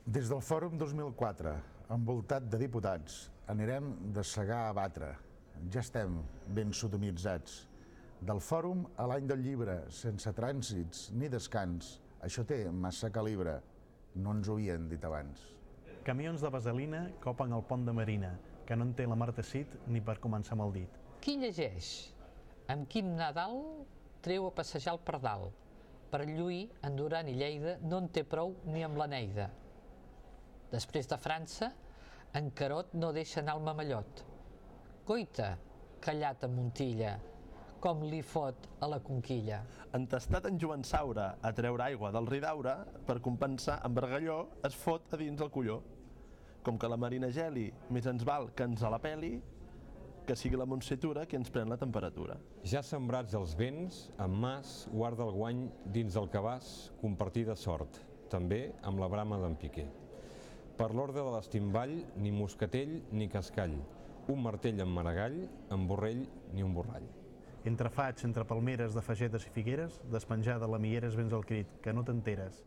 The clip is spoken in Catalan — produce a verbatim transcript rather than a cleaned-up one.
Des del Fòrum dos mil quatre, envoltat de diputats, anirem de segar a batre. Ja estem ben sodomitzats. Del Fòrum a l'any del llibre, sense trànsits ni descans. Això té massa calibre. No ens ho havien dit abans. Camions de vaselina copen el pont de Marina, que no en té la Marta Cid ni per començar amb el dit. Qui llegeix? Amb Quim Nadal treu a passejar el pardal. Per lluir, en Duran i Lleida no en té prou ni amb la Neida. Després de França, en Carot no deixa anar el mamellot. Coita, callat a Montilla, com li fot a la conquilla. Entestat en Joan Saura a treure aigua del Ridaura, per compensar amb Bargalló es fot a dins el colló. Com que la Marina geli, més ens val que ens a la peli, que sigui la Montsetura qui ens pren la temperatura. Ja sembrats els vents, en Mas guarda el guany dins del cabàs compartir de sort, també amb la brama d'en Piqué. Per l'ordre de l'estimball, ni moscatell ni cascall, un martell amb maragall, en borrell ni un borrall. Entre faigs, entre palmeres de fagetes i figueres, despenjada a la Mieres vens el crit, que no t'enteres.